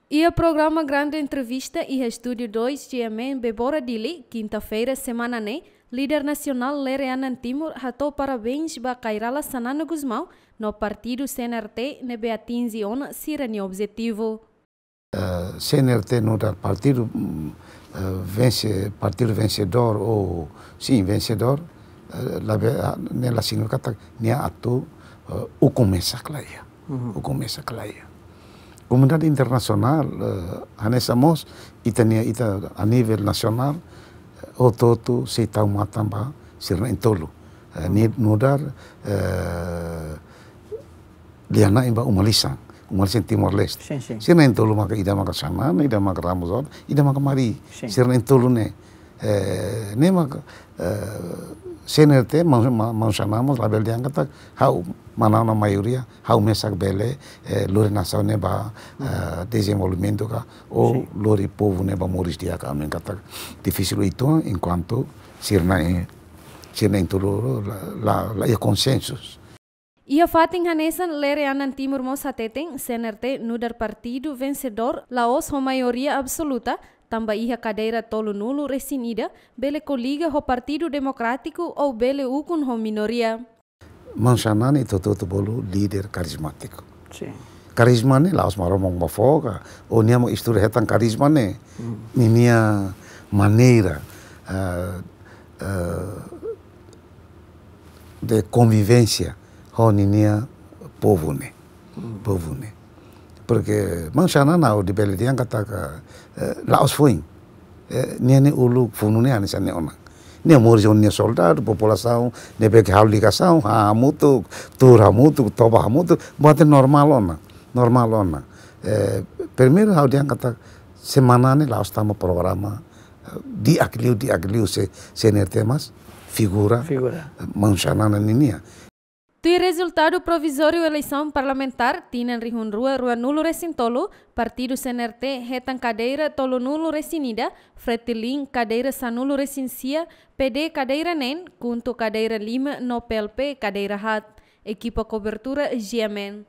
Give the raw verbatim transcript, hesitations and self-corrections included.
Iha programa Grande Entrevista iha Estúdiu dois G M N Bebora Dili, kinta-feira semana ne'e, líder nasionál Lere Anan Timur hato'o parabéns ba Kay Rala Xanana Gusmão no partidu C N R T ne'ebé atinje ona sira-nia objetivu. Eh, C N R T nu'udar partidu, mm, eh, vense, partidu vensedór ou, sin, vensedór, eh, labele, ah, ne'e la signifika katak nia atu, eh, ukun mesak la iha. Ukun mesak la iha. Komunidade internasionál, eh, hanesan mós, ita-nia, ita a nivel nasionál, eh, hotu-hotu sei tau matan ba sira na'in-tolu. Eh, ni nu'udar, eh, lia-na'in ba uma-lisan, uma-lisan Timor-Leste. Sin, sin. Sira na'in-tolu maka ida maka Xanana, ida maka Ramos Horta, ida maka Mari. Sin. Sira na'in-tolu ne'e. Eh, ne'e maka, eh, C N R T, maun, ma-, maun Xanana mós labele dehan katak ha'u manán ona maioria, ha'u mesak bele, eh, lori nasaun ne'e ba, eh, dezenvolvimentu ka, ou Sin. lori povu ne'e ba moris di'ak ka, ami katak difisil uitoan enkuantu sira na'in, sira na'in-tolu la, la, la iha konsensu. Iha fatin hanesan, Lere Anan Timur mós hateten, C N R T nu'udar partidu vensedór la'ós ho maioria absoluta, tanba iha kadeira tolunulu-resin-ida, bele koliga ho Partidu Demokrátiku ou bele ukun ho minoria. Maun Xanana ita hotu-hotu bolu líder karizmátiku. Sin. Karizma ne'e la'ós Maromak mak fó ka, ou nia mak estuda hetan karizma ne'e. Ninia maneira, eh, eh, de konvivénsia ho ninia povu ne'e. Povu ne'e. Porque maun Xanana ha'u bele dehan katak, eh, la'ós foin. Eh, nia ne'e uluk funu ne'e hanesan ne'e ona. Nia moris ho nia soldadu, populasaun ne'ebé ke halo ligasaun, hahán hamutuk, tuur hamutuk, toba hamutuk, buat ne'e normál ona, normál ona. Eh, primeiru ha'u dehan katak semana ne'e la'ós tanba programa, eh, di'ak liu, di'ak liu se, C N R T, mas figura, Figura. eh, maun Xanana ninian. Tuir rezultadu provizóriu eleisaun parlamentár tinan rihun rua ruanulu-resin-tolu, partidu C N R T hetan kadeira tolunulu-resin-ida, Fretilin kadeira sanulu-resin-sia, P D kadeira neen, KHUNTO kadeira lima no P L P kadeira haat. Ekipa kobertura G M N.